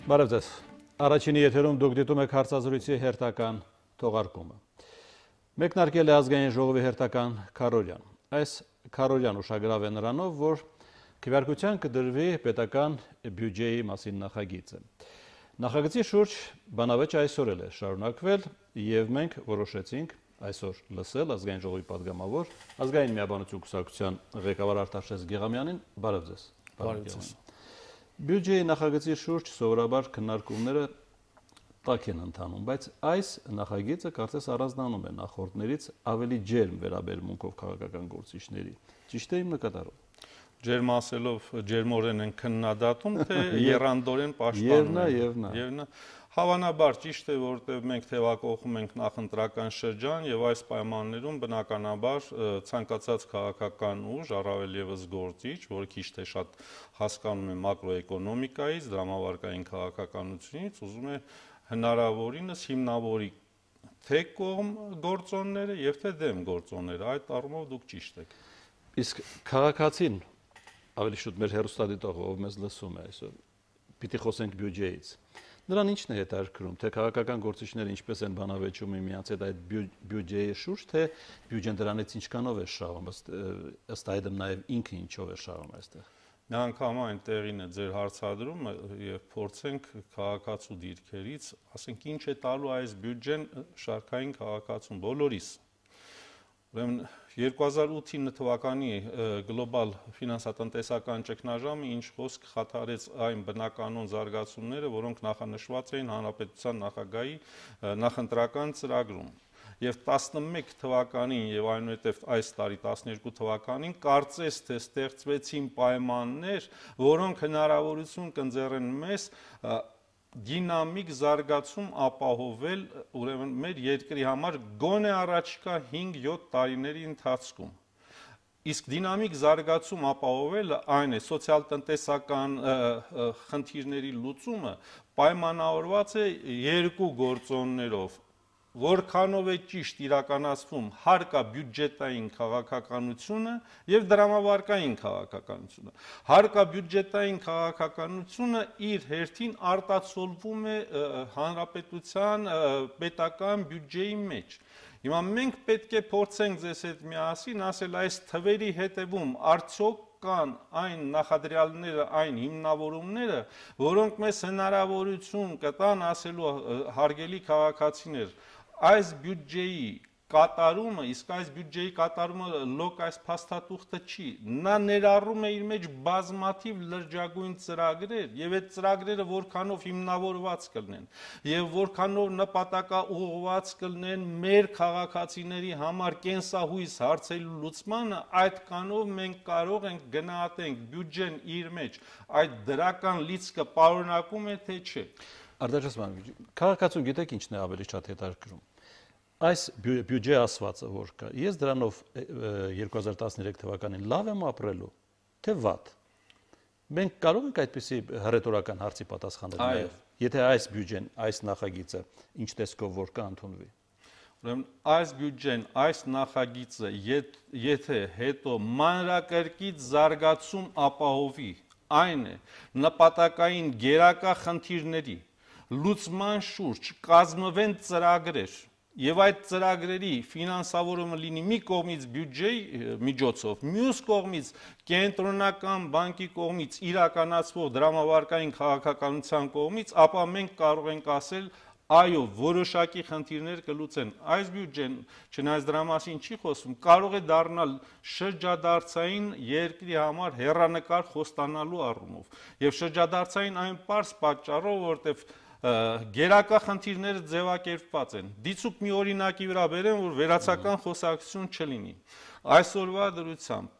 Բարև ձեզ։ Առաջինի եթերում դուք դիտում եք հարցազրույցի հերթական թողարկումը։ Մեկնարկել է ազգային ժողովի հերթական քարոզյան։ Այս քարոզյան ուշագրավ է նրանով, որ քվեարկության կդրվի պետական բյուջեի մասին նախագիծը։ Նախագծի շուրջ բանավեճը այսօր էլ է շարունակվել եւ մենք որոշեցինք այսօր լսել ազգային ժողովի падգամավոր ազգային միաբանություն կուսակցության ղեկավար Արտաշես Գեղամյանին։ Բարև ձեզ։ Բարև ձեզ։ Բյուջեի նախագծի շուրջ սովորաբար քննարկումները տաք են ընթանում, բայց այս նախագիծը կարծես առանձնանում է նախորդներից ավելի ջերմ վերաբերմունքով քաղաքական գործիչների։ Ճիշտ է իմ նկատառում։ Ջերմ ասելով ջերմորեն են քննադատում, թե եռանդորեն պաշտպանում են։ Հավանաբար ճիշտ է, որտեղ մենք թևակողում ենք նախընտրական շրջան եւ այս պայմաններում բնականաբար ցանկացած քաղաքական ուժ, առավել եւս գործիչ, որը քիչ թե շատ հասկանում է մակրոէկոնոմիկայից, դրամավարկային քաղաքականությունից, ուզում է հնարավորինս հիմնավորի թե կողմ գործոնները եւ թե դեմ գործոնները, այդ առումով դուք ճիշտ եք։ Իսկ քաղաքացին ավելի շուտ մեր հերոստատիտողը, ով մեզ լսում է այսօր, պիտի խոսենք բյուջեից։ Նրան ինչն է հետաքրքրում, թե քաղաքական գործիչները ինչպես են բանավեճում միմյանց հետ այդ բյուջեի շուրջ, թե բյուջեն դրանից ինչքանով է շահում, ըստ այդմ նաեւ ինքը ինչով է շահում այստեղ։ Միանգամայն տեղին է ձեր հարցադրումը եւ փորձենք քաղաքացու դիրքերից, ասենք ինչ է տալու այս բյուջեն շարքային քաղաքացուն բոլորիս։ Ուրեմն 2008 թվականի գլոբալ ֆինանսատնտեսական ճգնաժամը ինչ խոսք խաթարեց այն բնականոն զարգացումները, որոնք նախանշված էին հանրապետության նախագահի նախընտրական ծրագրում։ Եվ 11 թվականին եւ այնուհետեւ այս տարի 12 թվականին կարծես թե ստեղծվեցին պայմաններ, որոնք հնարավորություն կընձեռեն մեզ դինամիկ զարգացում ապահովել ուրեմն մեր երկրի համար գոնե առաջիկա 5-7 տարիների ընթացքում։ Իսկ դինամիկ զարգացում ապահովելը այն է սոցիալ-տնտեսական խնդիրների լուծումը պայմանավորված է երկու գործոններով։ Որքանով է ճիշտ իրականացվում հարկաբյուջետային քաղաքականությունը եւ դրամավարկային քաղաքականությունը։ Հարկաբյուջետային քաղաքականությունը իր հերթին արտացոլվում է հանրապետության պետական բյուջեի մեջ։ Հիմա մենք պետք է փորձենք ձեզ հետ միասին ասել այս թվերի հետևում արդյոք կան այն նախադրյալները, այն հիմնավորումները, որոնք մեզ հնարավորություն կտան ասելու հարգելի քաղաքացիներ, այս բյուջեի կատարումը, իսկ այս բյուջեի կատարումը լոկ այս փաստաթուղթը չի, նա ներառում է իր մեջ բազմաթիվ լրջագույն ծրագրեր եւ այդ ծրագրերը որքանով հիմնավորված կլինեն եւ որքանով նպատակաուղղված կլինեն մեր քաղաքացիների համար կենսահույս հարցերի լուծմանը, այդքանով մենք կարող ենք գնահատենք բյուջեն իր մեջ այդ դրական լիցքը պարունակում է թե չէ։ Արտաշես ման, քաղաքացուն գիտեք ինչն է ավելի շատ հետաքրքրում։ Այս բյուջե ասվածը որ կա, ես դրանով 2013 թվականին լավ եմ ապրելու, թե վատ։ Մենք կարող ենք այդպիսի հռետորական հարցի պատասխանել նաև, եթե այս բյուջեն, այս նախագիծը ինչ տեսքով որ կա ընդունվի։ Ուրեմն այս բյուջեն, այս նախագիծը, եթե հետո մանրակրկիտ զարգացում ապահովի, այն է նպատակային գերակա խնդիրների լուծման շուրջ կազմվեն ծրագրեր եւ այդ ծրագրերի ֆինանսավորումը լինի մի կողմից բյուջեի միջոցով, մյուս կողմից կենտրոնական բանկի կողմից իրականացվող դրամավարկային քաղաքականության կողմից, ապա մենք կարող ենք ասել այո, որոշակի խնդիրներ կլուծեն։ Այս բյուջեն, չնայած դրա մասին չի խոսում, կարող է դառնալ շրջադարձային երկրի համար հեռանկար խոստանալու առումով։ Եվ շրջադարձային այն պարզ պատճառով, որտեվ գերակա խնդիրները ձևակերպված են։ Դիցուկ մի օրինակի վրա բերեմ, որ վերացական խոսակցություն չլինի։ Այսօրվա դրությամբ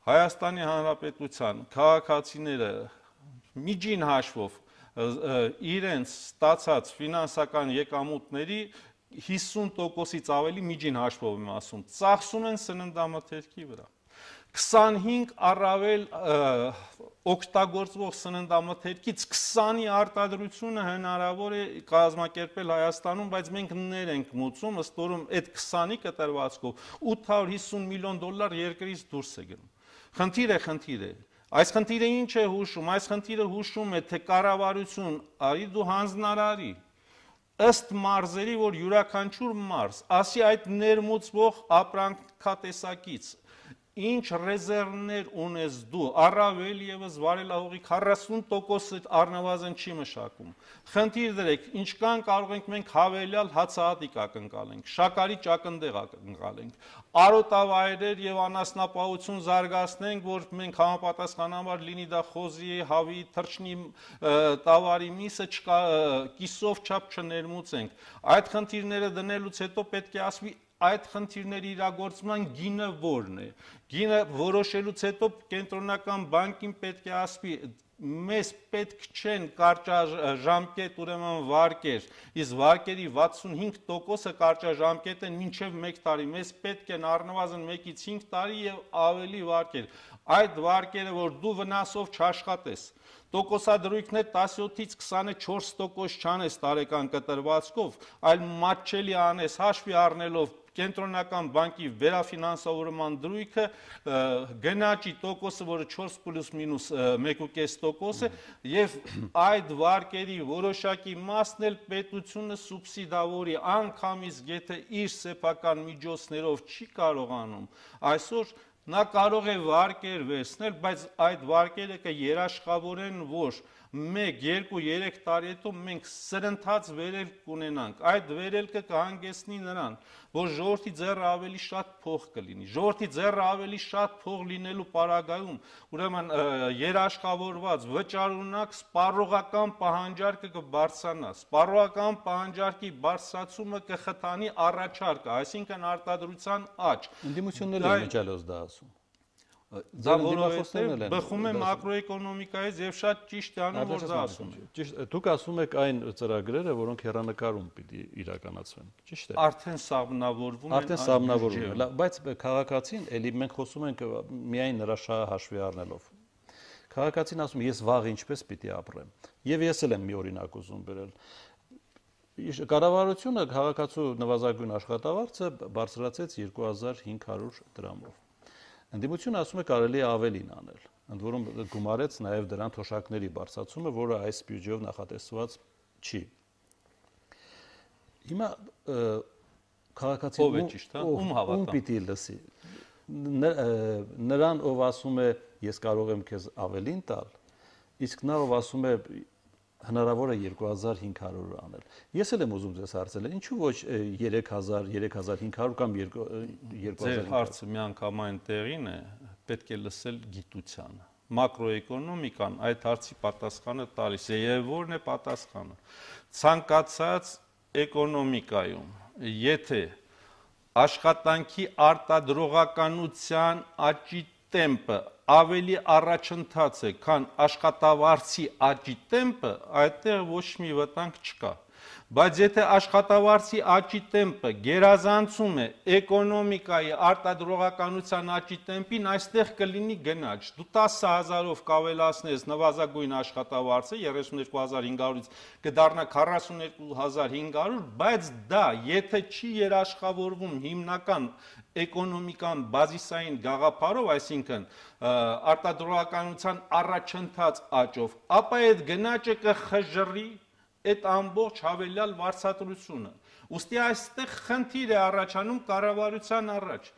Հայաստանի Հանրապետության քաղաքացիները միջին հաշվով իրենց ստացած ֆինանսական եկամուտների 50%-ից ավելի միջին հաշվով եմ ասում, ծախսում են սննդամթերքի վրա։ 25 առավել օգտագործվող սննդամթերքից 20-ի արտադրությունը հնարավոր է կազմակերպել Հայաստանում, բայց մենք ներ ենք մուծում, ըստ որում այդ 20-ի կտրվածքով $850 միլիոն երկրից դուրս է գնում։ Խնդիր է, Այս խնդիրը ինչ է հուշում, այս խնդիրը հուշում է, թե կառավարություն, արի դու հանձնարարի, ըստ մարզերի, որ յուրաքանչյուր մարզ, ասի այդ ներմուծվող ապրանքատեսակից, ինչ ռեզերվներ ունես դու, առավել ևս վարելահողի 40% առնվազն չի մշակում։ Խնդիր դրեք, ինչքան կարող ենք մենք հավելյալ հացահատիկ ակնկալենք, շաքարի ճակնդեղ ակնկալենք, արոտավայրեր եւ անասնապահություն զարգացնենք, որ մենք համապատասխանաբար լինի դա խոզի, հավի, թռչնի, տավարի միսը կիսով չափ չներմուծենք։ Այդ խնդիրները դնելուց հետո պետք է ասվի այդ խնդիրների իրագործման գինը որն է։ Գինը որոշելուց հետո կենտրոնական բանկին պետք է ասվի մեզ պետք չեն կարճաժամկետ ուրեմն վարկեր, իսկ վարկերի 65%-ը կարճաժամկետ են մինչև 1 տարի, մեզ պետք են առնվազն 1-ից 5 տարի եւ ավելի վարկեր։ Այդ վարկերը, որ դու վնասով չաշխատես, տոկոսադրույքներ 17-ից 24% չանես տարեկան կտրվածքով, այլ մատչելի անես հաշվի առնելով կենտրոնական բանկի վերաֆինանսավորման դրույքը գնաճի տոկոսը, որը 4+- 1.5% է, եւ այդ վարկերի որոշակի մասն էլ պետությունը սուբսիդավորի, անգամից եթե իր սեփական միջոցներով չի կարողանում, այսօր նա կարող է վարկեր վերցնել, բայց այդ վարկերը կերաշխավորեն, որ 1, 2, 3 տարի հետո մենք սրընթաց վերելք կունենանք, այդ վերելքը կհանգեցնի նրան, որ ժողովրդի ձեռը ավելի շատ փող կլինի, ժողովրդի ձեռը ավելի շատ փող լինելու պարագայում, ուրեմն երաշխավորված, վճարունակ սպառողական պահանջարկը կբարձրանա, սպառողական պահանջարկի բարձրացումը կխթանի առաջարկը, այսինքն արտադրության աճ։ Ընդդիմությունները միջալոց դա ասում։ Դա որովհետև բխում է մակրոէկոնոմիկայից եւ շատ ճիշտ է անում, որ դա ասում է։ Ճիշտ, դուք ասում եք այն ծրագրերը, որոնք հեռանկարում պիտի իրականացվեն, ճիշտ է։ Արդեն սահմանավորվում են։ Արդեն սահմանավորվում են, բայց քաղաքացին, էլի մենք խոսում ենք միայն նրա շահը հաշվի առնելով։ Քաղաքացին ասում է, ես վաղ ինչպես պիտի ապրեմ։ Եվ ես էլ եմ մի օրինակ ուզում բերել։ Կառավարությունը քաղաքացու նվազագույն աշխատավարձը բարձրացեց 2500 դրամով։ Ընդդիմությունը ասում է կարելի է ավելին անել, ընդ որում գումարեց նաև դրան թոշակների բարձրացումը, որը այս բյուջեով նախատեսված չի։ Հիմա քաղաքացին ում պիտի լսի։ Նրան, ով ասում է ես կարող եմ քեզ ավելին տալ, իսկ նա ով ասում է հնարավոր է 2500 անել։ Ես էլ եմ ուզում ձեզ հարցնել, ինչու ոչ 3000, 3500 կամ 2000։ Ձեր հարցը միանգամայն տեղին է, պետք է լսել գիտությանը։ Մակրոէկոնոմիկան այդ հարցի պատասխանը տալիս է, եւ որն է պատասխանը։ Ցանկացած էկոնոմիկայում, եթե աշխատանքի արտադրողականության աճի տեմպը ավելի առաջընթաց է, քան աշխատավարձի աճի տեմպը, այդտեղ ոչ մի վտանգ չկա։ Բայց եթե աշխատավարձի աճի տեմպը գերազանցում է էկոնոմիկայի արտադրողականության աճի տեմպին, այստեղ կլինի գնաճ։ Դու 10000-ով կավելացնես նվազագույն աշխատավարձը 32500-ից կդառնա 42500, բայց դա եթե չի երաշխավորվում հիմնական էկոնոմիկան բազիսային գաղափարով, այսինքն արտադրողականության առաջընթաց աճով, ապա այդ գնաճը կխժռի այդ ամբողջ հավելյալ վարձատրությունը։ Ուստի այստեղ խնդիր է առաջանում կառավարության առաջ։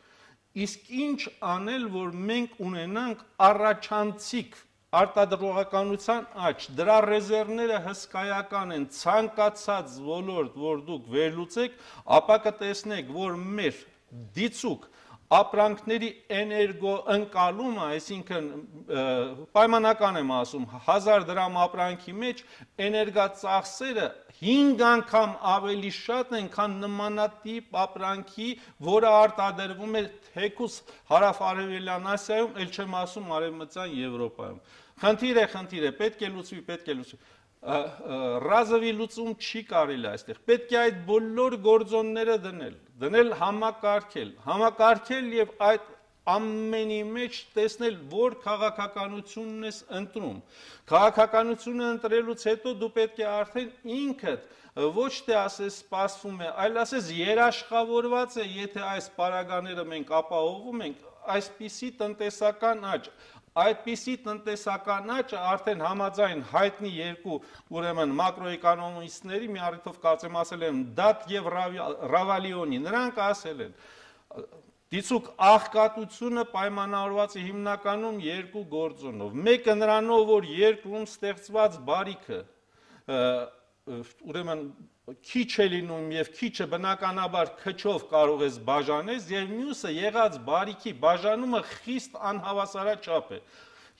Իսկ ինչ անել, որ մենք ունենանք առաջանցիկ արտադրողականության աճ, դրա ռեզերվները հսկայական են, ցանկացած ոլորտ, որ դուք վերլուծեք, ապա կտեսնեք, որ մեր դիցուկ ապրանքների էներգոընկալումը, այսինքն պայմանական եմ ասում, 1000 դրամ ապրանքի մեջ էներգածախսերը 5 անգամ ավելի շատ են, քան նմանատիպ ապրանքի, որը արտադրվում է թեկուզ հարավ-արևելյան Ասիայում, ել չեմ ասում արևմտյան Եվրոպայում։ Խնդիր է, պետք է լուծվի։ Ռազովի լուծում չի կարելի այստեղ, պետք է այդ բոլոր գործոնները դնել համակարգել եւ այդ ամենի մեջ տեսնել, որ քաղաքականությունն ես ընտրում։ Քաղաքականությունը ընտրելուց հետո դու պետք է արդեն ինքդ ոչ թե ասես սպասվում է, այլ ասես երաշխավորված է, եթե այս պարագաները մենք ապահովում ենք, այսպիսի տնտեսական աճ, այդպիսի տնտեսական աճը արդեն համաձայն հայտնի երկու ուրեմն մակրոէկոնոմիստների մի առիթով կարծեմ ասել են Դատ եւ Ռավալիոնի, նրանք ասել են դիցուկ աղքատությունը պայմանավորված է հիմնականում երկու գործոնով, մեկը նրանով, որ երկրում ստեղծված բարիքը ուրեմն քիչ է լինում եւ քիչը բնականաբար քչով կարող ես բաժանես եւ մյուսը եղած բարիքի բաժանումը խիստ անհավասարաչափ է։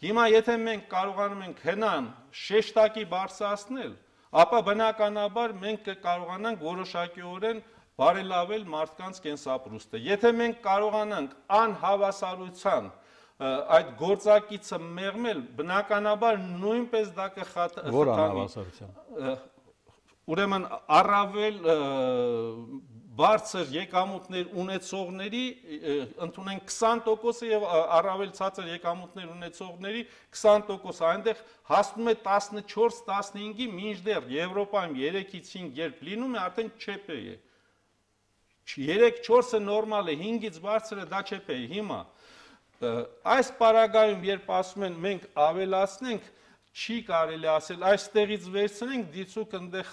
Հիմա եթե մենք կարողանում ենք հնան շեշտակի բարձրացնել, ապա բնականաբար մենք կկարողանանք որոշակիորեն բարելավել մարդկանց կենսապրուստը։ Եթե մենք կարողանանք անհավասարության այդ գործակիցը մեղմել, բնականաբար նույնպես դա կխթանի։ Որ անհավասարության։ Ուրեմն առավել բարձր եկամուտներ ունեցողների ընդունենք 20% եւ առավել ցածր եկամուտներ ունեցողների 20%, այնտեղ հասնում է 14-15-ի, մինչդեռ Եվրոպայում 3-ից 5 երբ լինում է, արդեն ՉՊ է։ 3-4-ը նորմալ է, 5-ից բարձրը դա ЧՊ է։ Հիմա այս պարագայում երբ ասում են մենք ավելացնենք, չի կարելի ասել այստեղից վերցնենք դիցուկ այնտեղ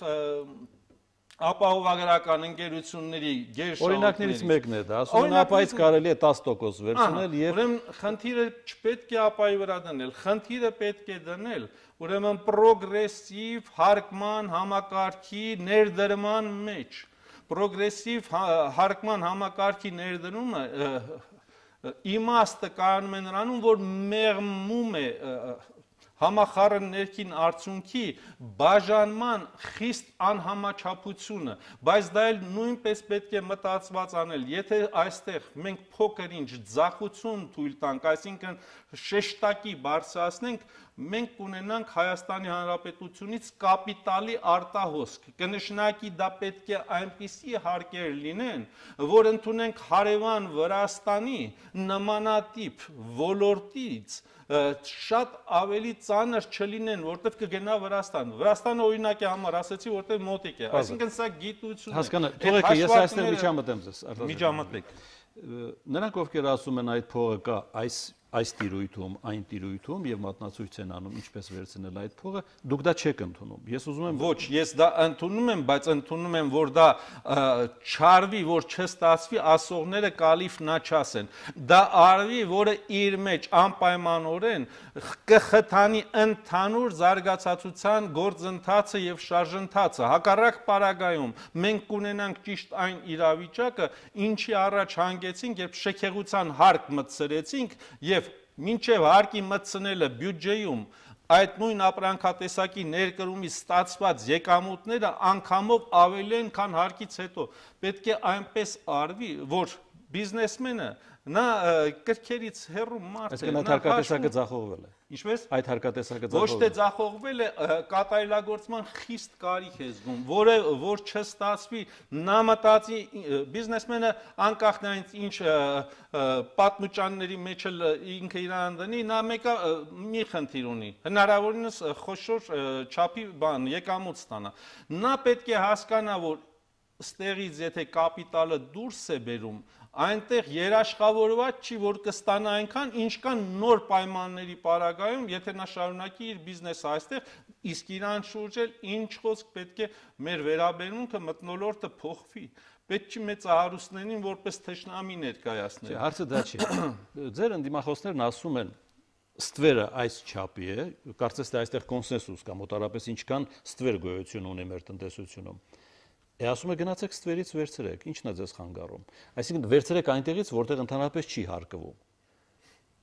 ապահովագրական ընկերությունների գերշահույթներից։ Օրինակներից մեկն է դա, ասում են ապայից կարելի է 10% վերցնել եւ ուրեմն խնդիրը չպետք է ապայի վրա դնել, խնդիրը պետք է դնել ուրեմն պրոգրեսիվ հարկման համակարգի ներդրման մեջ։ Պրոգրեսիվ հարկման համակարգի ներդրումը իմաստը կայանում է նրանում, որ մեղմում է համախառն ներքին արդյունքի բաժանման խիստ անհամաչափությունը, բայց դա էլ նույնպես պետք է մտածված անել, եթե այստեղ մենք փոքր ինչ ձախություն թույլ տանք, այսինքն շեշտակի բարձրացնենք, մենք կունենանք Հայաստանի Հանրապետությունից կապիտալի արտահոսք, կնշանակի դա պետք է այնպիսի հարկեր լինեն, որ ընդունենք հարևան Վրաստանի նմանատիպ ոլորտից շատ ավելի ծանր չլինեն, որտեղ կգնա Վրաստան։ Վրաստանը օրինակի համար ասեցի, որտեղ մոտիկ է։ Այսինքն սա գիտություն է։ Հասկանա, թողեք ես այստեղ միջամտեմ ձեզ, միջամտեք։ Նրանք ովքեր ասում են այդ փողը կա այս տիրույթում, այն տիրույթում եւ մատնացույց են անում ինչպես վերցնել այդ փողը, դուք դա չեք ընդունում։ Ես ուզում եմ Ոչ, ես դա ընդունում եմ, բայց ընդունում եմ, որ դա չարվի, որ չստացվի, ասողները կալիֆ նա չասեն։ Դա արվի, որը իր մեջ անպայմանորեն կխթանի ընդհանուր զարգացածության գործընթացը եւ շարժընթացը։ Հակառակ պարագայում մենք կունենանք ճիշտ այն իրավիճակը, ինչի առաջ հանգեցինք, երբ շքեղության հարկ մտցրեցինք եւ մինչև հարկի մտցնելը բյուջեում այդ նույն ապրանքատեսակի ներկրումից ստացված եկամուտները անգամով ավելի են, քան հարկից հետո։ Պետք է այնպես արվի, որ բիզնեսմենը նա կրքերից հեռու մարդ է։ Այսինքն այդ հարկատեսակը ձախողվել է։ Ինչպես։ Այդ հարկատեսակը Ոչ թե ձախողվել է, կատարելագործման խիստ կարիք է զգում, որ չստացվի, նա մտածի բիզնեսմենը անկախ նրանից ինչ պատմուճանների մեջ ինքը իրան դնի, նա մեկը մի խնդիր ունի, հնարավորինս խոշոր չափի բան եկամուտ ստանա։ Նա պետք է հասկանա, որ ստեղից եթե կապիտալը դուրս է բերում, այնտեղ երաշխավորված չի, որ կստանա այնքան, ինչքան նոր պայմանների պարագայում, եթե նա շարունակի իր բիզնեսը այստեղ, իսկ իրան շուրջ էլ ինչ խոսք պետք է մեր վերաբերմունքը մթնոլորտը փոխվի։ Պետք չի մեծահարուստներին որպես թշնամի ներկայացնել։ Հարցը դա չի։ Ձեր ընդդիմախոսներն ասում են ստվերը այս չափի է, կարծես թե այստեղ կոնսենսուս կա, մոտարապես ինչքան ստվեր գոյություն ունի մեր տնտեսությունում։ Ասում է գնացեք ստվերից վերցրեք, ի՞նչն է ձեզ խանգարում։ Այսինքն վերցրեք այնտեղից, որտեղ ընդհանրապես չի հարկվում։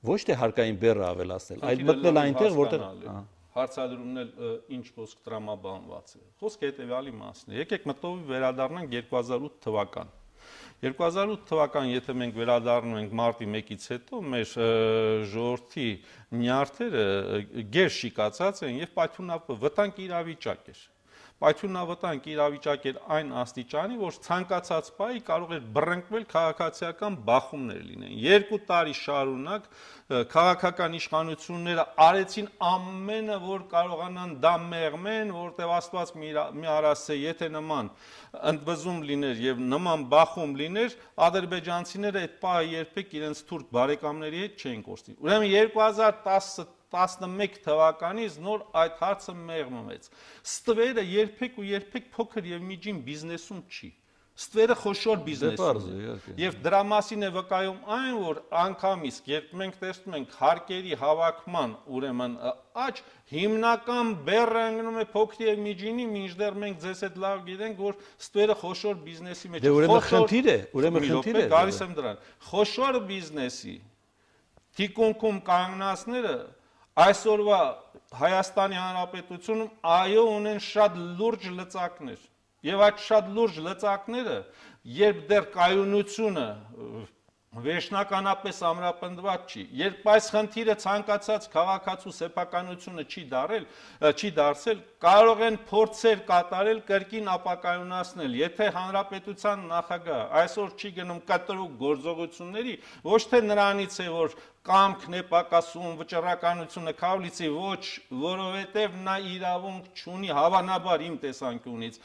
Ոչ թե հարկային բեռը ավելացնել, այլ մտնել այնտեղ, որտեղ հարցադրումն էլ ինչ խոսք տրամաբանված է։ Խոսքը հետեւյալի մասն է։ Եկեք մտովի վերադառնանք 2008 թվական։ 2008 թվական, եթե մենք վերադառնում ենք մարտի 1-ից հետո, մեր ժողովրդի նյարդերը գեր շիկացած են եւ պայթունապ վտանգ իրավիճակ էր։ պայթյունավտանգ իրավիճակ էր այն աստիճանի, որ ցանկացած բայի կարող էր բռնկվել քաղաքացիական բախումներ լինեն։ 2 տարի շարունակ քաղաքական իշխանությունները արեցին ամենը, որ կարողանան դա մեղմեն, որտեղ Աստված մի արասե, եթե նման ընդվզում լիներ եւ նման բախում լիներ, ադրբեջանցիները այդ պահը երբեք իրենց թուրք բարեկամների հետ չէին կորցնի։ Ուրեմն 2011 թվականից նոր այդ հարցը մեղմվեց։ Ստվերը երբեք փոքր եւ միջին բիզնեսում չի։ Ստվերը խոշոր բիզնեսում է։ Եվ դրա մասին է վկայում այն, որ անգամից, երբ մենք տեսնում ենք հարկերի հավաքման, ուրեմն աճ, հիմնական բեռը ընկնում է փոքր եւ միջինի, մինչդեռ մենք ձեզ հետ լավ գիտենք, որ ստվերը խոշոր բիզնեսի մեջ է։ Ուրեմն խնդիր է, գալիս եմ դրան։ Խոշոր բիզնեսի թիկունքում կանգնածները այսօրվա Հայաստանի Հանրապետությունում այո ունեն շատ լուրջ լծակներ եւ այդ շատ լուրջ լծակները երբ դեռ կայունությունը վերջնականապես ամրապնդված չի, երբ այս խնդիրը ցանկացած քաղաքացու սեփականությունը չի դարձել, կարող են փորձեր կատարել կրկին ապակայունացնել, եթե հանրապետության նախագահ այսօր չի գնում կտրուկ գործողությունների, ոչ թե նրանից է, որ կամքն է պակասում, վճռականությունը քավլիցի, ոչ, որովհետև նա իրավունք չունի հավանաբար իմ տեսանկյունից,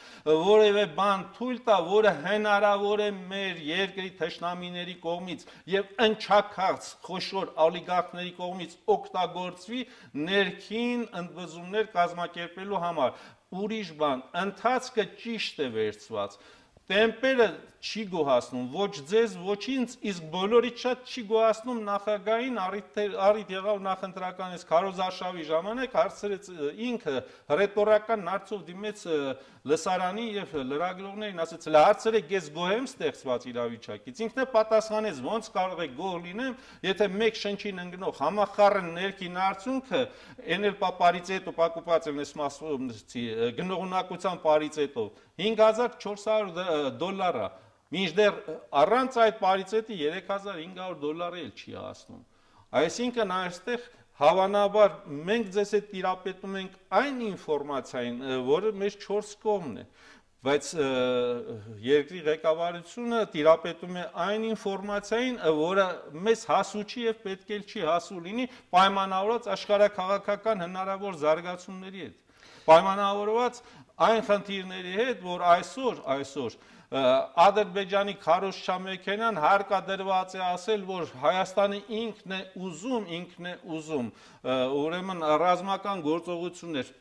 որևէ բան թույլ տա, որը հնարավոր է մեր երկրի թշնամիների կողմից եւ ընչաքաղց խոշոր օլիգարխների կողմից օգտագործվի ներքին ընդվզումներ կազմակերպելու համար։ Ուրիշ բան, ընթացքը ճիշտ է վերցված։ Տեմպերը չի գոհացնում, ոչ ձեզ, ոչ ինձ, իսկ բոլորից շատ չի գոհացնում նախագահին, առիթ եղավ նախընտրականից քարոզարշավի ժամանակ հարցրեց ինքը ռետորական հարցով դիմեց լսարանի եւ լրագրողներին, ասեց՝ հարցրեք, ես գոհ եմ ստեղծված իրավիճակից։ Ինքն է պատասխանեց, ոնց կարող է գոհ լինեմ, եթե մեկ շնչին ընկնող համախառն ներքին արդյունքը էնել պարիցետով պակուպած եմ գնողունակության պարիցետով 5400 դոլար է, մինչդեռ առանց այդ պարիցետի 3500 դոլարը էլ չի հասնում։ Այսինքն այստեղ հավանաբար մենք ձեզ հետ տիրապետում ենք այն ինֆորմացիային, որը մեզ 4 կողմն է, բայց երկրի ղեկավարությունը տիրապետում է այն ինֆորմացիային, որը մեզ հասու չի եւ պետք էլ չի հասու լինի պայմանավորված աշխարհաքաղաքական հնարավոր զարգացումների հետ, պայմանավորված այն խնդիրների հետ, որ այսօր Ադրբեջանի քարոզչամեքենան հարկադրված է ասել, որ Հայաստանը ինքն է ուզում, ուրեմն ռազմական գործողություններ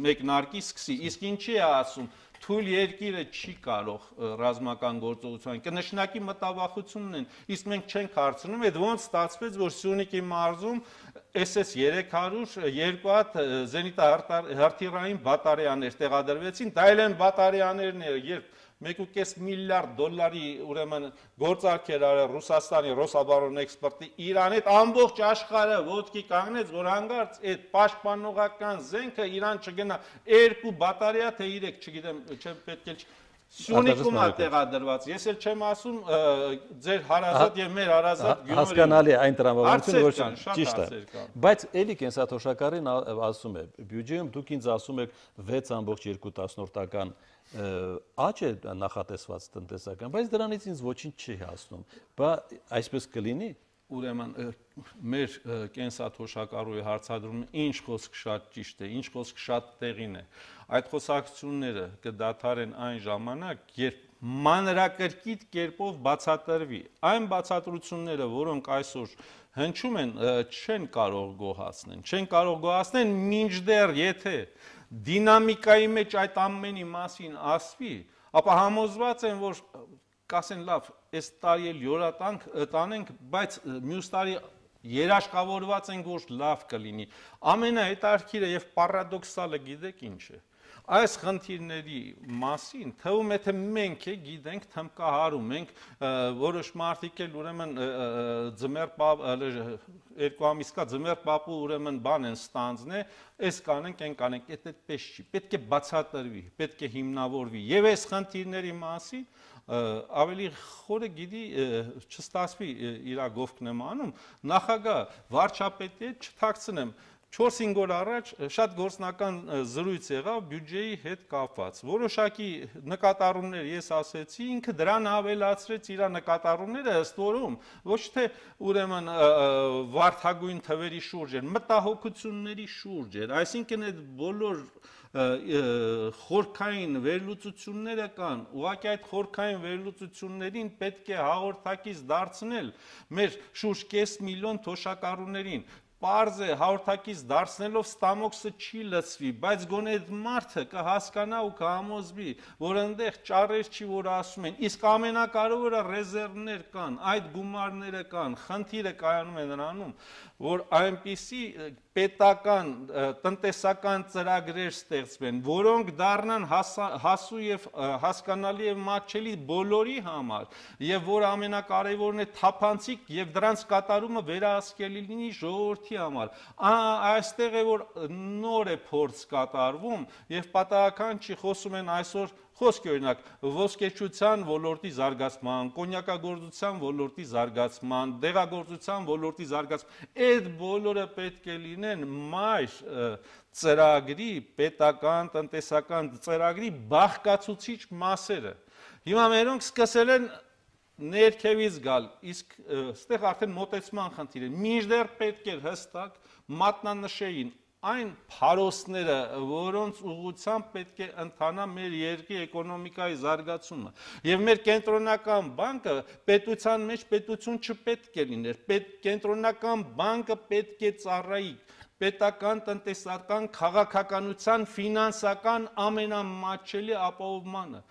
մեկնարկի սկսի, իսկ ինչի է ասում, թույլ երկիրը չի կարող ռազմական գործողություն, կնշանակի մտավախությունն են, իսկ մենք չենք հարցնում, այդ ոնց ստացվեց, որ Սյունիքի մարզում SS-300 2 հատ զենիտահրթիռային բատարեաներ տեղադրվեցին, դա էլ են բատարեաներն երբ 1.5 միլիարդ դոլարի ուրեմն գործարքեր արել Ռուսաստանի Ռոսաբարոն էքսպորտի Իրան հետ ամբողջ աշխարհը ոտքի կանգնեց, որ հանգարց այդ պաշտպանողական զենքը Իրան չգնա 2 բատարեա թե 3, չգիտեմ, չեմ պետք է Սյունիքում է տեղադրված։ Ես էլ չեմ ասում ձեր հարազատ եւ մեր հարազատ Գյումրի։ Հասկանալի է այն տրամաբանությունը, որ ճիշտ է։ Բայց էլի կենսաթոշակարին ասում է, բյուջեում դուք ինձ ասում եք 6.2% աճ է նախատեսված տնտեսական, բայց դրանից ինձ ոչինչ չի հասնում։ Բա այսպես կլինի։ Ուրեմն մեր կենսաթոշակառուի հարցադրումը ինչ խոսք շատ ճիշտ է, ինչ խոսք շատ տեղին է։ Այդ խոսակցությունները կդադարեն այն ժամանակ, երբ մանրակրկիտ կերպով բացատրվի։ Այն բացատրությունները, որոնք այսօր հնչում են, չեն կարող գոհացնել, մինչդեռ եթե դինամիկայի մեջ այդ ամենի մասին ասվի, ապա համոզված եմ, որ կասեն լավ, այս տարի էլ յորատանք տանենք, բայց մյուս տարի երաշխավորված ենք, որ լավ կլինի։ Ամենահետաքրքիրը եւ պարադոքսալը գիտեք ինչ է։ Այս խնդիրների մասին թվում է թե մենք գիտենք թմկահարում ենք, որոշ մարդիկ էլ ուրեմն երկու ամիս կա ձմեռ պապու ուրեմն բան են ստանձնե, այս կանենք, այն կանենք, այդպես չի, պետք է բացատրվի, պետք է հիմնավորվի եւ այս խնդիրների մասին ավելի խորը գիտի չստացվի իր գովքն եմ անում, նախագահ վարչապետի հետ չթաքցնեմ, 4-5 օր առաջ շատ գործնական զրույց եղավ բյուջեի հետ կապված։ Որոշակի նկատառումներ ես ասեցի, ինքը դրան ավելացրեց իր նկատառումները, ըստ որում ոչ թե ուրեմն վարդագույն թվերի շուրջ էր, մտահոգությունների շուրջ էր, այսինքն այդ բոլոր խորքային վերլուծությունները կան, ուղղակի այդ խորքային վերլուծություններին պետք է հաղորդակից դարձնել մեր շուրջ կես միլիոն թոշակառուներին։ Պարզ է, հաղորդակից դարձնելով ստամոքսը չի լցվի, բայց գոնե այդ մարդը կհասկանա ու կհամոզվի, որ այնտեղ ճառեր չի, որ ասում են, իսկ ամենակարևորը ռեզերվներ կան, այդ գումարները կան, խնդիրը կայանում է նրանում, որ այնպիսի պետական տնտեսական ծրագրեր ստեղծվեն, որոնք դառնան հասու եւ հասկանալի եւ մատչելի բոլորի համար, եւ որ ամենակարևորն է թափանցիկ եւ դրանց կատարումը վերահսկելի լինի ժողովրդի համար։ Այստեղ է որ նոր է փորձ կատարվում եւ պատահական չի խոսում են այսօր խոսք օրինակ ոսկեչության ոլորտի զարգացման, կոնյակագործության ոլորտի զարգացման, դեղագործության ոլորտի զարգացման, այդ բոլորը պետք է լինեն մայր ծրագրի, պետական, տնտեսական ծրագրի բաղկացուցիչ մասերը։ Հիմա մերոնք սկսել են ներքևից գալ, իսկ այստեղ արդեն մոտեցման խնդիր է։ Մինչդեռ պետք է հստակ մատնանշեին այն փարոսները, որոնց ուղղությամբ պետք է ընթանա մեր երկրի էկոնոմիկայի զարգացումը։ Եվ մեր կենտրոնական բանկը պետության մեջ պետություն չպետք է լիներ։ Կենտրոնական բանկը պետք է ծառայի պետական, տնտեսական, քաղաքականության, ֆինանսական ամենամատչելի ապահովմանը։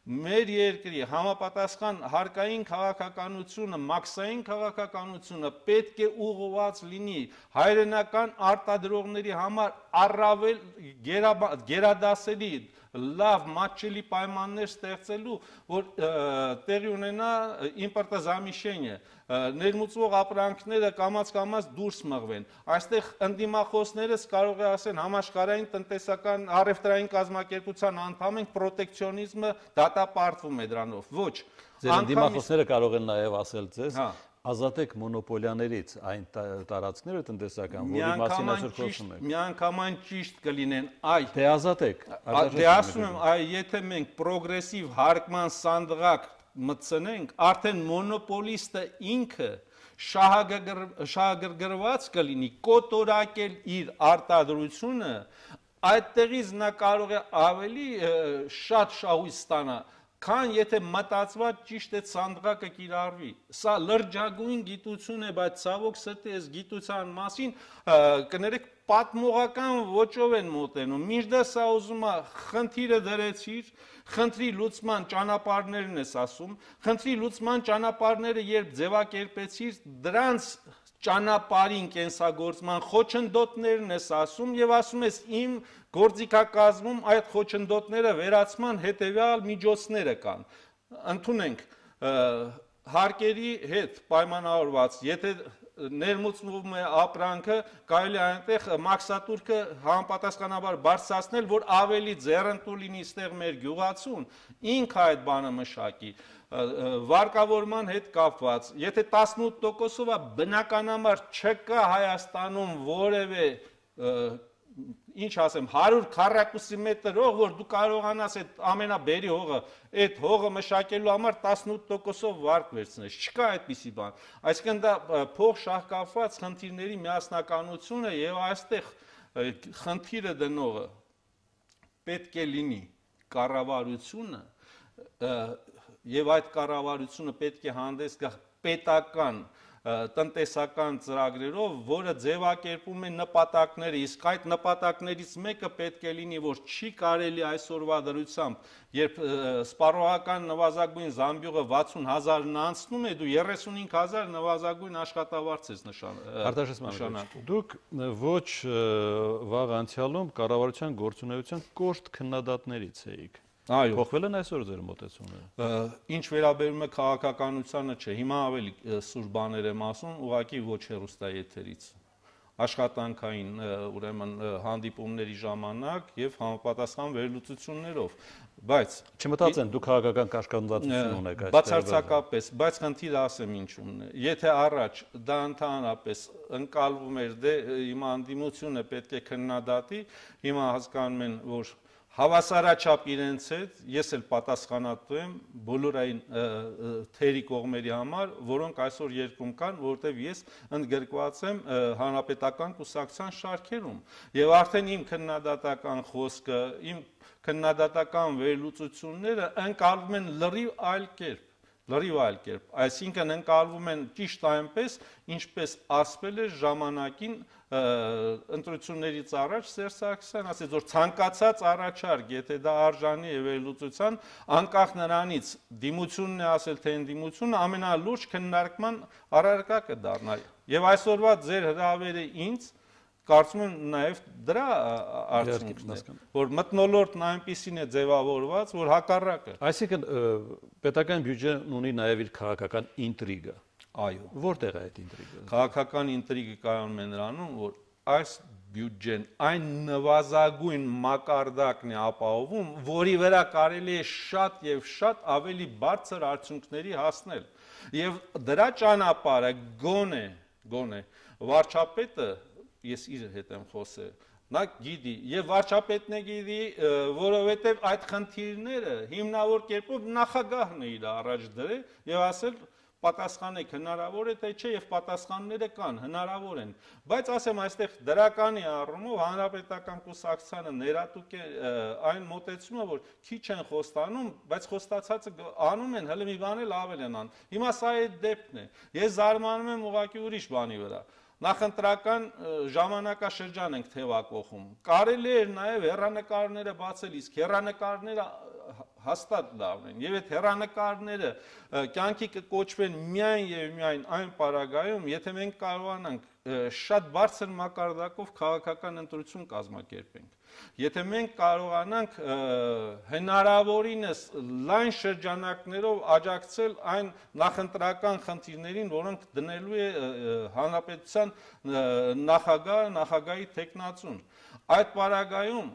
Մեր երկրի համապատասխան հարկային քաղաքականությունը, մաքսային քաղաքականությունը պետք է ուղղված լինի հայրենական արտադրողների համար առավել գերադասելի լավ մատչելի պայմաններ ստեղծելու, որ տեղի ունենա իմպորտազամիշենիը, ներմուծվող ապրանքները կամաց դուրս մղվեն։ Այստեղ ընդդիմախոսներս կարող է ասեն համաշխարհային տնտեսական առևտրային կազմակերպության անդամ ենք, պրոտեկցիոնիզմը դատապարտվում է դրանով։ Ոչ։ Ձեր ընդդիմախոսները կարող են նաև ասել ձեզ, ազատեք մոնոպոլիաներից այն տարածքները տնտեսական, որի մասին այսօր խոսում ենք։ Միանգամայն ճիշտ կլինեն, այ դե ազատեք։ Դե ասում եմ, այ եթե մենք պրոգրեսիվ հարկման սանդղակ մտցնենք, արդեն մոնոպոլիստը ինքը շահագրգռված կլինի, կոտորակել իր արտադրությունը, այդտեղից նա կարող է ավելի շատ շահույթ ստանա, քան եթե մտածված ճիշտ այդ սանդղակը կիրառվի։ Սա լրջագույն գիտություն է, բայց ցավոք սրտի այս գիտության մասին կներեք պատմողական ոճով են մոտենում։ Մինչդեռ սա ուզում է խնդիրը դրեցիր, խնդրի լուծման ճանապարհներն ես ասում, խնդրի լուծման ճանապարհները երբ ձևակերպեցիր, դրանց ճանապարհին կենսագործման խոչընդոտներն ես ասում եւ ասում ես իմ գործիքակազմում այդ խոչընդոտները վերացման հետեւյալ միջոցները կան։ Ընդունենք հարկերի հետ պայմանավորված, եթե ներմուծվում է ապրանքը, կարելի է այնտեղ մաքսատուրքը համապատասխանաբար բարձրացնել, որ ավելի ձեռնտու լինի ստեղ մեր գյուղացուն, ինքը այդ բանը մշակի։ Վարկավորման հետ կապված, եթե 18%-ով է, բնականաբար չկա Հայաստանում որևէ ինչ ասեմ 100 քառակուսի մետր հող, որ դու կարողանաս այդ ամենաբերի հողը, այդ հողը մշակելու համար 18%-ով վարկ վերցնես, չկա այդպիսի բան։ Այսինքն դա փող շահկապված խնդիրների միասնականություն է եւ այստեղ խնդիրը դնողը պետք է լինի կառավարությունը եւ այդ կառավարությունը պետք է հանդես գա պետական տնտեսական ծրագրերով, որը ձևակերպում է նպատակները, իսկ այդ նպատակներից մեկը պետք է լինի, որ չի կարելի այսօրվա դրությամբ, երբ սպառողական նվազագույն զամբյուղը 60,000-ն անցնում է, դու 35,000 նվազագույն աշխատավարձ ես նշանակում։ Դուք ոչ վաղ անցյալում կառավարության գործունեության կոշտ քննադատներից էիք։ Այո։ Փոխվել են այսօր ձեր մոտեցումները։ Ինչ վերաբերում է քաղաքականությանը, չէ, հիմա ավելի սուր բաներ եմ ասում, ուղղակի ոչ հեռուստաեթերից։ աշխատանքային ուրեմն հանդիպումների ժամանակ եւ համապատասխան վերլուծություններով, բայց չմտածեն դուք քաղաքական կաշկանդվածություն ունեք այստեղ։ Բացարձակապես, բայց խնդիրը ասեմ ինչու՞մն է։ Եթե առաջ դա ընդհանրապես ընկալվում էր, դե հիմա անդիմությունը պետք է քննադատի, հիմա հասկանում են, որ հավասարաչափ իրենց հետ ես էլ պատասխանատու եմ բոլոր այն թերի կողմերի համար, որոնք այսօր երկրում կան, որտեղ ես ընդգրկված եմ հանրապետական կուսակցության շարքերում։ Եվ արդեն իմ քննադատական խոսքը, իմ քննադատական վերլուծությունները ընկալվում են լրիվ այլ կերպ։ Այսինքն ընկալվում են ճիշտ այնպես, ինչպես ասվել է ժամանակին ընտրություններից առաջ Սերժ Սարգսյան ասեց, որ ցանկացած առաջարկ, եթե դա արժանի է վերլուծության, անկախ նրանից դիմությունն է ասել, թե ընդդիմությունը ամենալուրջ քննարկման առարկա կդառնա։ Եվ այսօրվա ձեր հրավերը ինձ կարծում եմ նաև դրա արդյունքն է, որ մթնոլորտն այնպիսին է ձևավորված, որ հակառակը։ Այսինքն պետական բյուջեն ունի նաև իր քաղաքական ինտրիգը։ Այո։ Որտեղ է այդ ինտրիգը։ Քաղաքական ինտրիգը կայանում է նրանում, որ այս բյուջեն այն նվազագույն մակարդակն է ապահովում, որի վրա կարելի է շատ եւ շատ ավելի բարձր արդյունքների հասնել։ Եվ դրա ճանապարհը գոնե վարչապետը ես իր հետ եմ խոսել, նա գիտի, եւ վարչապետն է գիտի, որովհետեւ այդ խնդիրները հիմնավոր կերպով նախագահն է իր առաջ դրել եւ ասել պատասխանեք, հնարավոր է թե չէ, եւ պատասխանները կան, հնարավոր են, բայց ասեմ այստեղ դրականի առումով հանրապետական կուսակցությանը ներատուկ է այն մոտեցումը, որ քիչ են խոստանում, բայց խոստացածը անում են, հələ մի բան էլ ավել են անում։ Հիմա սա է դեպքն է։ Ես զարմանում եմ ուղղակի ուրիշ բանի վրա։ Նախընտրական ժամանակաշրջան ենք թևակողում։ Կարելի էր նաև հեռանկարները բացել, իսկ հեռանկարները հաստատ լավն են։ Եվ այդ հեռանկարները կյանքի կկոչվեն միայն եւ միայն այն պարագայում, եթե մենք կարողանանք շատ բարձր մակարդակով քաղաքական ընտրություն կազմակերպենք։ Եթե մենք կարողանանք հնարավորինս լայն շրջանակներով աջակցել այն նախընտրական խնդիրներին, որոնք դնելու է հանրապետության նախագահի թեկնածուն, այդ պարագայում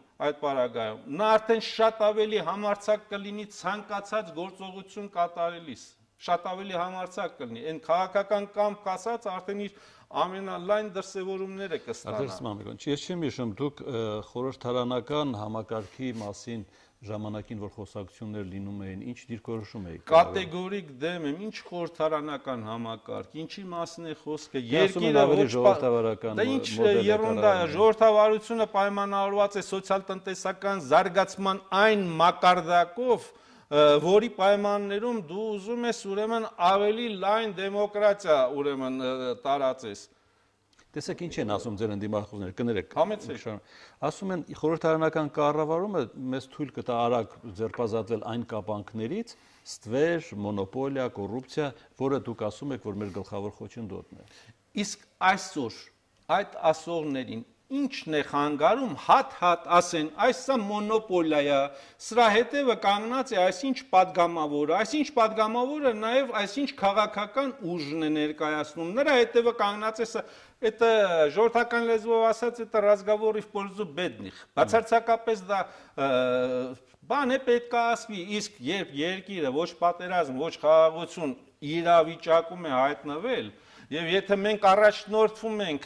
նա արդեն շատ ավելի համարձակ կլինի ցանկացած գործողություն կատարելիս, շատ ավելի համարձակ կլինի, այն քաղաքական կամք ասած արդեն իր ամենալայն դրսևորումները կստանա։ Ես չեմ հիշում, դուք խորհրդարանական համակարգի մասին ժամանակին, որ խոսակցություններ լինում էին, ինչ դիրքորոշում եք։ Կատեգորիկ դեմ եմ, ինչ խորհրդարանական համակարգ, ինչի մասին է խոսքը, երկիրը ոչ ժողովրդավարական։ Դա ինչ երունդա է, ժողովրդավարությունը պայմանավորված է սոցիալ-տնտեսական զարգացման այն մակարդակով, որի պայմաններում դու ուզում ես ուրեմն ավելի լայն դեմոկրատիա ուրեմն տարածես։ Տեսեք ինչ են ասում ձեր ընդդիմախոսները, կներեք։ Համեցեք։ Ասում են խորհրդարանական կառավարումը մեզ թույլ կտա արագ ձերբազատվել այն կապանքներից, ստվեր, մոնոպոլիա, կոռուպցիա, որը դուք ասում եք, որ մեր գլխավոր խոչընդոտն է։ Իսկ այսօր այդ ասողներին ինչն է խանգարում հատ ասեն, այսա մոնոպոլիա է, սրա հետևը կանգնած է այսինչ падգամավորը, այսինչ падգամավորը նաև այսինչ քաղաքական ուժն է ներկայացնում, նրա հետևը կանգնած է, это ժողովրդական լեզվով ասած, это разговоры в пользу бедных, բացարձակապես դա բան է պետք է ասվի, իսկ երբ երկիրը ոչ պատերազմ, ոչ խաղաղություն իրավիճակում է հայտնվել, եւ եթե մենք առաջնորդվում ենք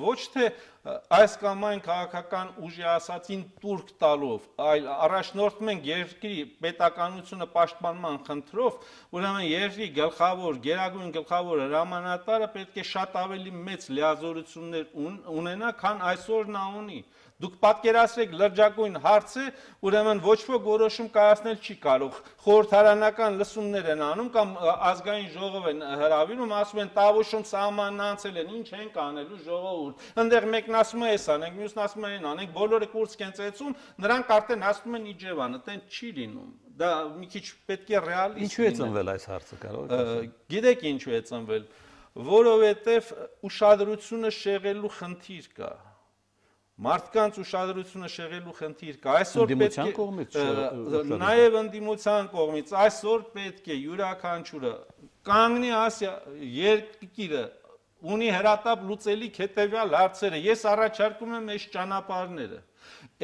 ոչ թե այս կամ այն քաղաքական ուժի ասացին տուրք տալով, այլ առաջնորդվում ենք երկրի պետականությունը պաշտպանման խնդրով, ուրեմն երկրի գլխավոր, գերագույն գլխավոր հրամանատարը պետք է շատ ավելի մեծ լիազորություններ ունենա, քան այսօր նա ունի։ Դուք պատկերացրեք լրջագույն հարցը, ուրեմն ոչ ոք որոշում կայացնել չի կարող։ Խորհրդարանական լսումներ են անում կամ ազգային ժողով են հրավիրում, ասում են տավուշում սահմանն անցել են, ինչ ենք անելու ժողովուրդ։ Այնտեղ մեկն ասում է էս անենք, մյուսն ասում է այն անենք, բոլորը կուրս են ծեցում, նրանք արդեն հասնում են Իջևան, այդտեն չի լինում։ Դա մի քիչ պետք է ռեալիստ։ Ինչու է ծնվել այս հարցը, կարող եք։ Գիտեք ինչու է ծնվել, որովհետև ուշադրությունը շեղելու խնդիր կա։ Մարդկանց ուշադրությունը շեղելու խնդիր կա։ Այսօր պետք է նաև ընդդիմության կողմից, այսօր պետք է յուրաքանչյուրը կանգնի ասի երկիրը ունի հրատապ լուծելիք հետևյալ հարցերը։ Ես առաջարկում եմ այս ճանապարհները։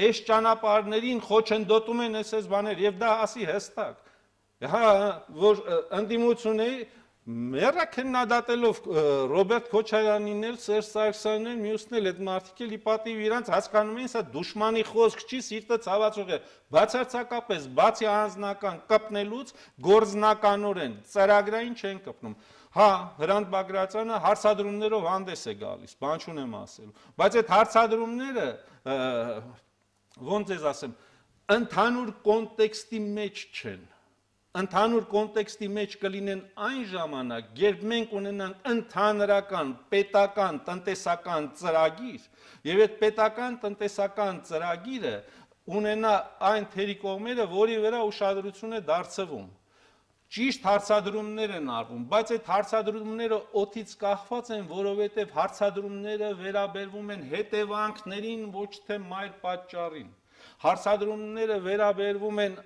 Այս ճանապարհներին խոչընդոտում են այս բաներ եւ դա ասի հստակ։ Հա, որ ընդդիմություն է Մերը քննադատելով Ռոբերտ Քոչարյանին էլ, Սերժ Սարգսյանին էլ, մյուսն էլ այդ մարդիկ էլ ի պատիվ իրանց հասկանում են, սա դուշմանի խոսք չի, սիրտը ցավացող է։ Բացարձակապես, բացի անձնական կպնելուց, գործնականորեն, ծրագրային չեն կպնում։ Հա, Հրանտ Բագրատյանը հարցադրումներով հանդես է գալիս, բան չունեմ ասելու, բայց այդ հարցադրումները, ոնց ես ասեմ, ընդհանուր կոնտեքստի մեջ չեն։ Ընդհանուր կոնտեքստի մեջ կլինեն այն ժամանակ, երբ մենք ունենանք ընդհանրական պետական տնտեսական ծրագիր, եւ այդ պետական տնտեսական ծրագիրը ունենա այն թերի կողմերը, որի վրա ուշադրություն է դարձվում։ Ճիշտ հարցադրումներ են արվում, բայց այդ հարցադրումները օդից կախված են, որովհետեւ հարցադրումները վերաբերվում են հետևանքներին, ոչ թե մայր պատճառին։ Հարցադրումները վերաբերվում են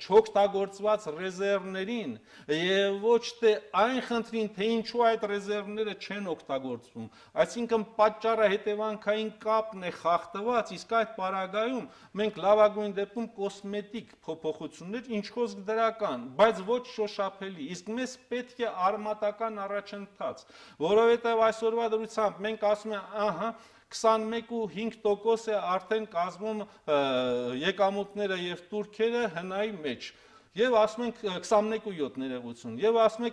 չօգտագործված ռեզերվներին եւ ոչ թե այն խնդրին, թե ինչու այդ ռեզերվները չեն օգտագործվում։ Այսինքն պատճառը հետևանքային կապն է խախտված, իսկ այդ պարագայում մենք լավագույն դեպքում կոսմետիկ փոփոխություններ, ինչ խոսք դրական, բայց ոչ շոշափելի։ Իսկ մեզ պետք է արմատական առաջընթաց, որովհետեւ այսօրվա դրությամբ մենք ասում ենք, ահա 21.5% է արդեն կազմում եկամուտները եւ տուրքերը հնայի մեջ։ Եվ ասում ենք 21.7 ներողություն, եւ ասում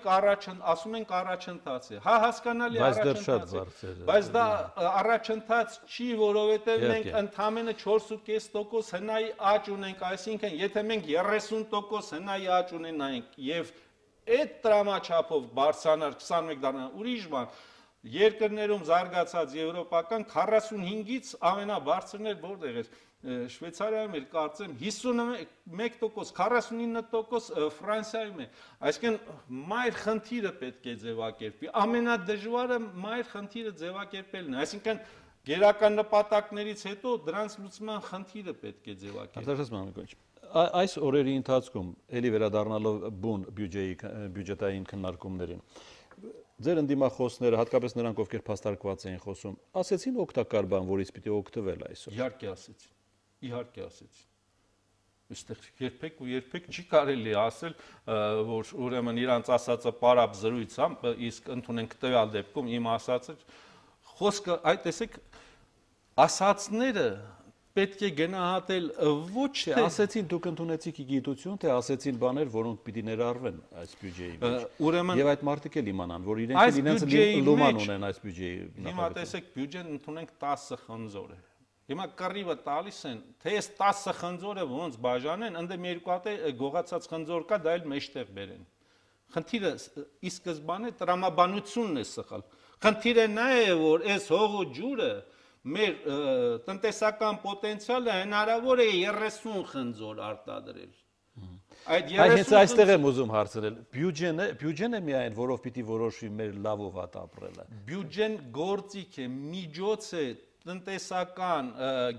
ենք առաջընթաց է։ Հա, հասկանալի առաջընթաց է։ Բայց դա առաջընթաց չի, որովհետեւ մենք ընդամենը 4.5% հնայի աճ ունենք, այսինքն եթե մենք 30% հնայի աճ ունենայինք եւ այդ տրամաչափով բարձրանար 21 դառնա ուրիշ բան, երկրներում զարգացած եվրոպական 45-ից ամենաբարձրն էր որտեղ էր Շվեյցարիայում էր կարծեմ 51%, 49% Ֆրանսիայում է։ Այսինքն մայր խնդիրը պետք է ձևակերպի։ Ամենադժվարը մայր խնդիրը ձևակերպելն է։ Այսինքն գերական նպատակներից հետո դրանց լուծման խնդիրը պետք է ձևակերպի։ Այս օրերի ընթացքում ելի վերադառնալով բուն բյուջետային քննարկումներին Ձեր ընդդիմախոսները, հատկապես նրանք, ովքեր փաստարկված էին խոսում, ասեցին օգտակար բան, որից պիտի օգտվել այսօր։ Իհարկե ասեցին։ Այստեղ երբեք չի կարելի ասել, որ ուրեմն իրանց ասածը պարապ զրույց է, իսկ ընդունենք տվյալ դեպքում իմ ասածը խոսքը, այդ տեսեք, ասածները պետք է գնահատել ոչ թե ասեցին դուք ընդունեցիք գիտություն, թե ասեցին բաներ, որոնք պիտի ներառվեն այս բյուջեի մեջ։ Եվ այդ մարդիկ էլ իմանան, որ իրենց լուման ունեն այս բյուջեի նախագծում։ Հիմա տեսեք, բյուջեն ընդունենք 10 խնձոր է։ Հիմա կռիվը տալիս են, թե այս 10 խնձորը ոնց բաժանեն, ընդդեմ երկու հատ գողացած խնձոր կա, դա էլ մեջտեղ բերեն։ Խնդիրը ի սկզբանե տրամաբանությունն է սխալ։ Խնդիրը նա է, որ այս հողու ջուրը մեր տնտեսական պոտենցիալը հնարավոր է 30 խնձոր արտադրել։ Այդ այստեղ եմ ուզում հարցնել։ Բյուջեն է միայն, որով պիտի որոշվի մեր լավ ու վատ ապրելը։ Բյուջեն գործիք է, միջոց է տնտեսական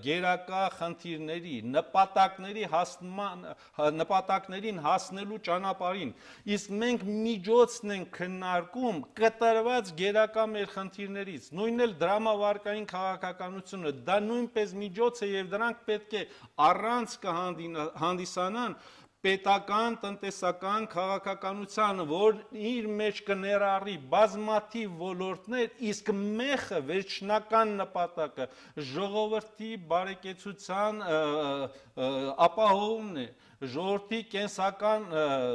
գերակա խնդիրների, նպատակներին հասնելու ճանապարհին։ Իսկ մենք միջոցն ենք քննարկում կտրված գերակա մեր խնդիրներից։ Նույնն էլ դրամավարկային քաղաքականությունը, դա նույնպես միջոց է եւ դրանք պետք է առանց կհանդիսանան պետական, տնտեսական քաղաքականությանը, որ իր մեջ կներառի բազմաթիվ ոլորտներ, իսկ մեխը վերջնական նպատակը ժողովրդի բարեկեցության ապահովումն է, ժողովրդի կենսական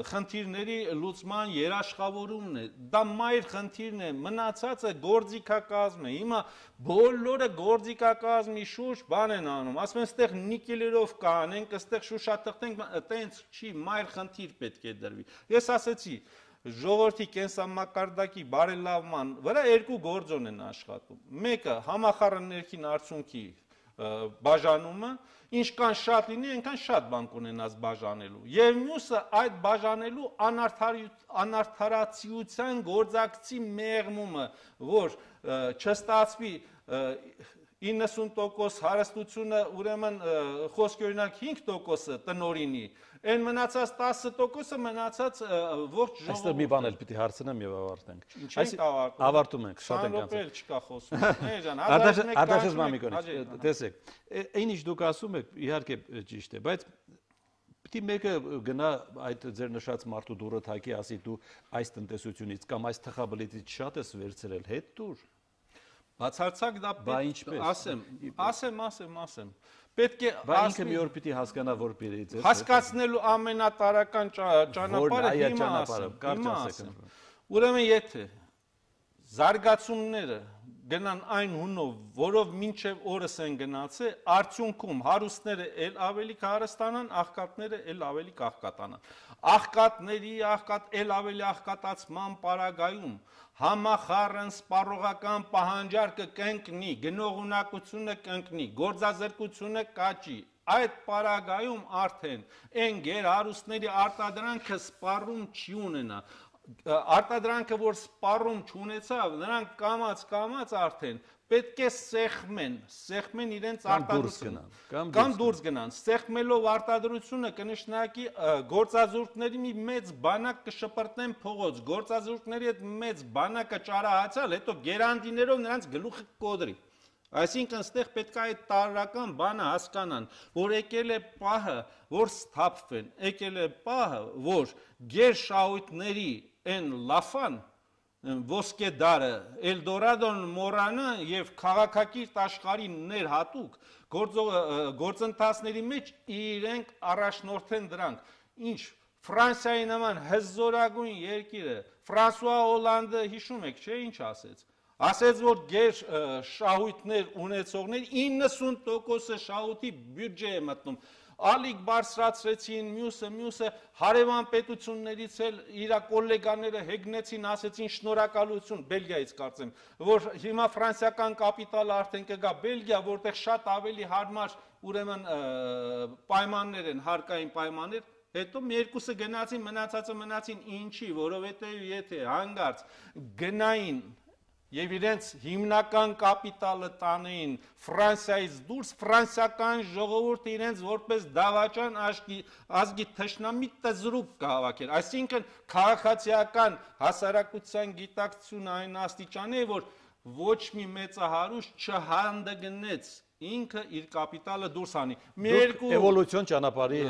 խնդիրների լուծման երաշխավորումն է, դա մայր խնդիրն է, մնացածը գործիքակազմ է, հիմա բոլորը գործիքակազմի շուրջ բան են անում, ասում են ստեղ նիկելերով կանենք, ստեղ շուշաթղթենք, տենց չի, մայր խնդիր պետք է դրվի, ես ասեցի, ժողովրդի կենսամակարդակի բարելավման վրա երկու գործոն են աշխատում, մեկը համախառն ներքին արդյունքի բաժանումը, ինչքան շատ լինի, այնքան շատ բան կունենաս բաժանելու, եւ մյուսը այդ բաժանելու անարդարացիության գործակցի մեղմումը, որ չստացվի 90% հարստությունը ուրեմն խոսքի օրինակ 5%-ը տնօրինի, այն մնացած 10%-ը մնացած ողջ ժողովուրդը։ Այստեղ մի բան էլ պիտի հարցնեմ եւ ավարտենք։ Ավարտում ենք, շատ ենք անցել։ Չկա խոսում։ Էջան, Արտաշես Մամիկոնից, տեսեք, այն ինչ դուք ասում եք, իհարկե ճիշտ է, բայց պիտի մեկը գնա այդ ձեր նշած մարդու դուրը թակի, ասի դու այս տնտեսությունից կամ այս թխաբլիթից շատ ես վերցրել, հետ դուր։ Բացարձակ դա պետք ասեմ։ Պետք է ինքը մի օր պիտի հասկանա, որ պիտի ձեր հասկացնելու ամենատարական ճանապարհը հիմա ասեմ։ Ուրեմն եթե զարգացումները գնան այն հունով, որով մինչև օրս են գնացել, արդյունքում հարուստները էլ ավելի կհարստանան, աղքատները էլ ավելի կաղքատանան։ Աղքատների էլ ավելի աղքատացման պարագայում համախառն սպառողական պահանջարկը կընկնի, գնողունակությունը կընկնի, գործազրկությունը կաճի։ Այդ պարագայում արդեն այն գերհարուստների արտադրանքը սպառում չի ունենա։ Արտադրանքը, որ սպառում չունեցավ, նրանք կամաց արդեն պետք է սեղմեն իրենց արտադրությունը կամ դուրս գնան։ Սեղմելով արտադրությունը կնշանակի գործազուրկների մի մեծ բանակ կշպրտնեն փողոց, գործազուրկների այդ մեծ բանակը ճարահացալ, հետո գերանդիներով նրանց գլուխը կոդրի։ Այսինքն ստեղ պետք է այդ տարրական բանը հասկանան, որ եկել է պահը, որ սթափվեն, եկել է պահը, որ գերշահույթների այն լաֆան ոսկե դարը Էլդորադոն մոռանա եւ քաղաքակիրթ աշխարհի ներհատուկ գործընթացների մեջ իրենք առաջնորդեն դրանք։ Ինչ Ֆրանսիայի նման հզորագույն երկիրը, Ֆրանսուଆ Օլանդը հիշում եք, չէ՞, ինչ ասեց։ Ասեց, որ գեր շահույթներ ունեցողներ 90% շահույթի բյուջե է մտնում։ Ալիք բարձրացրեցին, մյուսը հարևան պետություններից էլ իր կոլեգաները հեգնեցին, ասեցին շնորհակալություն Բելգիայից կարծեմ, որ հիմա ֆրանսիական կապիտալը արդեն կգա Բելգիա, որտեղ շատ ավելի հարմար ուրեմն պայմաններ են, հարկային պայմաններ։ Հետո մի երկուսը գնացին, մնացին ինչի, որովհետև եթե հանգարց գնային եւ իրենց հիմնական կապիտալը տանեին Ֆրանսիայից դուրս, ֆրանսիական ժողովուրդը իրենց որպես դավաճան ազգի թշնամի տզրուկ կհավաքեր։ Այսինքն քաղաքացիական հասարակության գիտակցությունը այն աստիճանի է, որ ոչ մի մեծահարուստ չհանդգնեց ինքը իր կապիտալը դուրս անի։ Էվոլյուցիոն ճանապարհի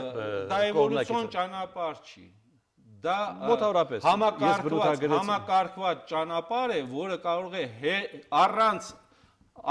դա էվոլյուցիոն ճանապարհ չի։ Դա համակարգված ճանապարհ է, որը կարող է առանց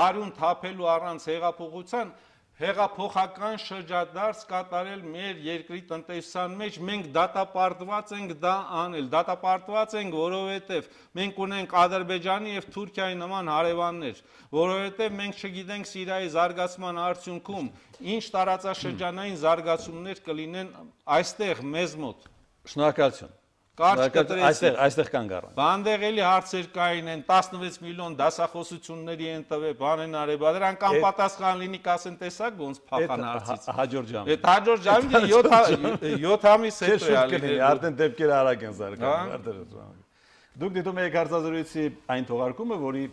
արյուն թափելու, առանց հեղափոխության հեղափոխական շրջադարձ կատարել մեր երկրի տնտեսության մեջ։ Մենք դատապարտված ենք դա անել, դատապարտված ենք, որովհետև մենք ունենք Ադրբեջանի եւ Թուրքիայի նման հարևաններ, որովհետև մենք չգիտենք Սիրիայի զարգացման արդյունքում ինչ տարածաշրջանային զարգացումներ կլինեն այստեղ մեզ մոտ։ Շնորհակալություն։ Այստեղ կան գառան։ Բանդեղ էլի հարցեր կային են 16 միլիոն դասախոսությունների են տվել, բան են արել, բա դրանք անպատասխան լինի կասեն տեսակ ոնց փախան հարցից։ Հաջորդ ժամը։ Այդ հաջորդ ժամին 7 ամիս հետո է ալի։ Արդեն դեպքերը արագ են զարգանում։ Դուք դիտում եք հարցազրույցի այն թողարկումը, որի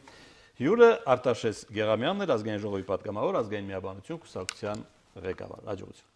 հյուրը Արտաշես Գեղամյանն էր, ազգային ժողովի պատգամավոր, ազգային միաբանություն կուսակցության ղեկավար։ Հաջողություն։